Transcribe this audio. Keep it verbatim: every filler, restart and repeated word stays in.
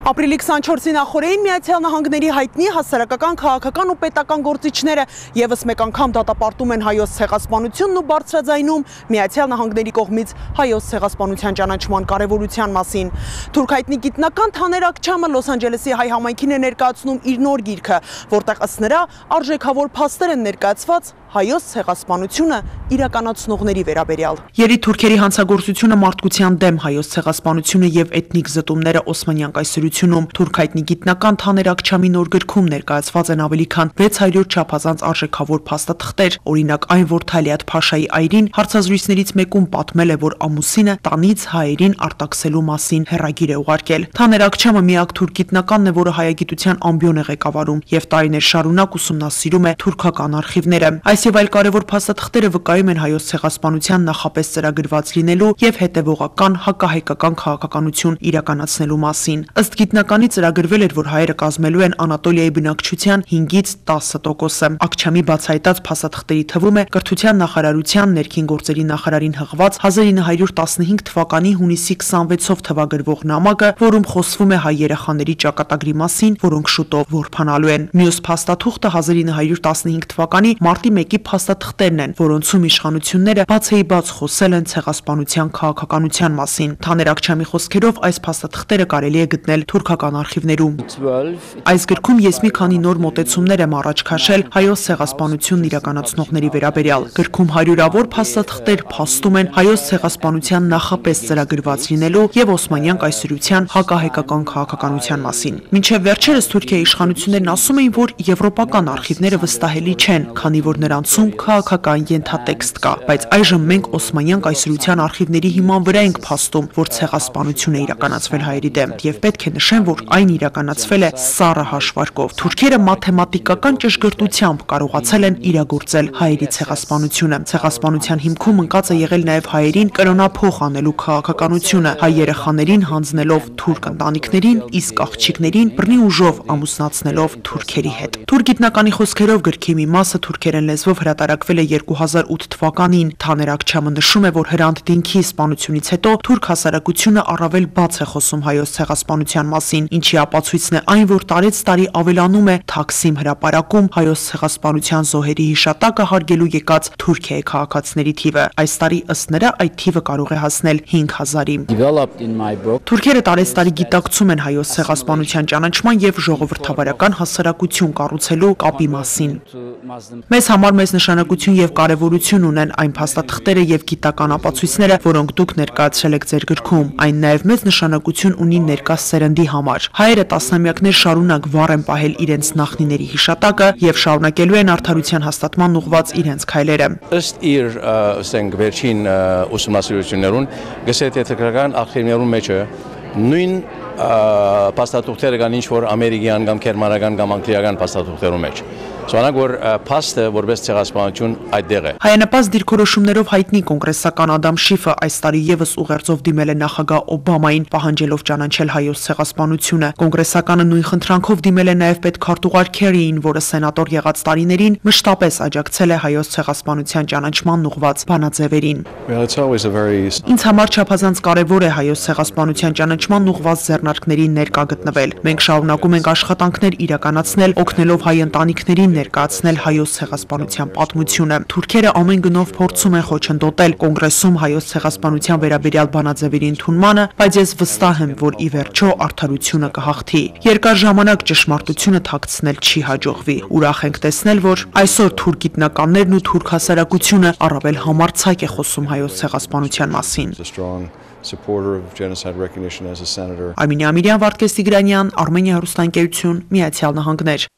Ապրիլի քսանչորսի նախօրեին Միացյալ Նահանգների հայտնի հասարակական, քաղաքական ու պետական գործիչները ևս մեկ անգամ դատապարտում են հայոց ցեղասպանությունն ու բարձրաձայնում Միացյալ Նահանգների կողմից հայոց ցեղասպանության ճանաչման կարևորության մասին։ Թուրք հայտնի գիտնական Թաներ Աքչամը Լոս Անջելեսի հայ համայնքին է ներկայացնում իր նոր գիրքը, որտեղ ըստ նրա արժեքավոր փաստեր են ներկայացված հայոց ցեղասպանությունը իրականացնողների վերաբերյալ։ Երի թուրքերի հանցագործությունը մարդկության դեմ հայոց ցեղասպանությունը եւ էթնիկ զտումները Օսմանյան կայսրությունում թուրք հայտնի գիտնական Թաներ Աքչամի նոր գրքում ներկայացված են ավելի քան վեց հարյուր չափազանց արժեքավոր փաստաթղթեր, օրինակ այն, որ Թալիաթ Փաշայի այրին հարցազրույցներից մեկում պատմել է, որ ամուսինը տանից հայերին արտաքսելու մասին հեռագիր է ուղարկել։ Թաներ Աքչամը միակ թուրք գիտնականն է, որը հայագիտության ամբիոն է ղեկավարում եւ տարիներ շարունակ ուսումնասիրում է թուրքական արխիվները։ Այս եւ այլ կարևոր փաստաթղթերը վկայում են հայոց ցեղասպանության նախապես ծրագրված լինելու եւ հետեւողական հակահայկական քաղաքականություն իրականացնելու մասին։ Ըստ գիտնականի ծրագրվել էր, որ հայերը կազմելու են Անատոլիայի բնակչության հինգից տասը տոկոսը։ Աքչամի բացահայտած փաստաթղթերի թվում է կրթության նախարարության ներքին գործերի նախարարին հղված հազար ինը հարյուր տասնհինգ թվականի հունիսի քսանվեցով թվագրվող նամակը, որում խոսվում է հայ երեխաների ճակատագրի մասին, որոնք շուտով որբանալու են։ Մյուս փաստաթուղթը հազար ինը հարյուր տասնհինգ թվականի մարտի մեկի փաստաթղթերն են, որոնցում իշխանությունները բացեիբաց խոսել են ցեղասպանության քաղաքականության մասին։ Թաներ Աքչամի խոսքերով այս փաստաթղթերը կարելի է գտնել թուրքական արխիվներում։ Այս գրքում ես մի քանի նոր մոտեցումներ եմ առաջ քաշել հայոց ցեղասպանությունն իրականացնողների վերաբերյալ։ Գրքում հարյուրավոր փաստաթղթեր փաստում են հայոց ցեղասպանության նախապես ծրագրված լինելու եւ Օսմանյան կայսրության հակահայկական քաղաքականության մասին։ Մինչև վերջերս Թուրքիայի իշխանություններն ասում էին, որ եվրոպական արխիվները վստահելի չեն, քանի որ նրանցում քաղաքական ենթատեքստ կա, բայց այժմ մենք Օսմանյան կայսրության արխիվների հիման վրա ենք փաստում, որ ցեղասպանություն է իրականացվել հայերի դեմ, եւ պետք է նշեմ, որ այն իրականացվել է սառը հաշվարկով։ Թուրքերը մաթեմատիկական ճշգրտությամբ կարողացել են իրագործել հայերի ցեղասպանությունը։ Ցեղասպանության հիմքում ընկած է եղել նաեւ հայերին կրոնափոխ անելու քաղաքականությունը, հայ երեխաներին հանձնելով թուրք ընտանիքներին, իսկ աղջիկներին բռնի ուժով ամուսնացնելով թուրքերի հետ։ Թուրք գիտնականի խոսքերով գրքի մի մասը թուրքերեն լեզվով հրատարակվել է երկու հազար ութ թվականին։ Թաներ Աքչամը նշում է, որ Հրանտ Դինքի սպանությունից հետո թուրք հասարակությունը առավել բաց է խոսում հայոց ցեղասպանության մասին, ինչի ապացույցն է այն, որ տարեց տարի ավելանում է Թաքսիմ հրապարակում հայոց ցեղասպանության զոհերի հիշատակը հարգելու եկած Թուրքիայի քաղաքացիների թիվը։ Այս տարի ըստ նրա այդ թիվը կարող է հասնել հինգ հազարի։ Թուրքերը տարեց տարի գիտակցում են հայոց ցեղասպանության ճանաչման եւ ժողովրդավարական հասարակություն կառուցելու կապի մասին։ Մեզ համար մեծ նշանակություն եւ կարեւորություն ունեն այն փաստաթղթերը եւ գիտական ապացույցները, որոնք դուք ներկայացրել եք ձեր գրքում։ Այն նաեւ մեծ նշանակություն ունի ներկա սերնդի համար։ Հայերը տասնամյակներ շարունակ վառ են պահել իրենց նախնիների հիշատակը եւ շարունակելու են արդարության հաստատման ուղղված իրենց քայլերը։ Ըստ իր, ասենք, վերջին ուսումնասիրություններուն, գսեթեթական արխիվներում մեջ նույն փաստաթուղթերը կան ինչ որ ամերիկյան կամ գերմանական կամ անգլիական փաստաթուղթերում մեջ։ Սրանք որ փաստը որպես ցեղասպանություն այդտեղ է։ Հայանպաստ դիրքորոշումներով հայտնի կոնգրեսական Ադամ Շիֆը այս տարի եւս ուղերձով դիմել է նախագահ Օբամային, պահանջելով ճանաչել հայոց ցեղասպանությունը։ Կոնգրեսականը նույն խնդրանքով դիմել է նաեւ պետքարտուղար Քերիին, որը սենատոր եղած տարիներին մշտապես աջակցել է հայոց ցեղասպանության ճանաչմանն ուղղված բանաձևերին։ Ինձ համար չափազանց կարևոր է հայոց ցեղասպանության ճանաչմանն ուղղված ձեռնարկներին ներկա գտնվել։ Մենք շարունակում ենք աշխատանքներ իրականացնել, օգնելով հայ ընտանիքներին ներկայացնել հայոց ցեղասպանության պատմությունը։ Թուրքերը ամեն գնով փորձում են խոչընդոտել կոնգրեսում հայոց ցեղասպանության վերաբերյալ բանաձևերի ընդունմանը, բայց ես վստահ եմ, որ ի վերջո արդարությունը կհաղթի։ Երկար ժամանակ ճշմարտությունը թաքցնել չի հաջողվի։ Ուրախ ենք տեսնել, որ այսօր թուրք գիտնականներն ու թուրք հասարակությունը առավել համարձակ է խոսում հայոց ցեղասպանության մասին։ Արմինե Ամիրյան, Վարդգես Տիգրանյան, Armenia հեռուստաընկերություն, Միացյալ Նահանգներ։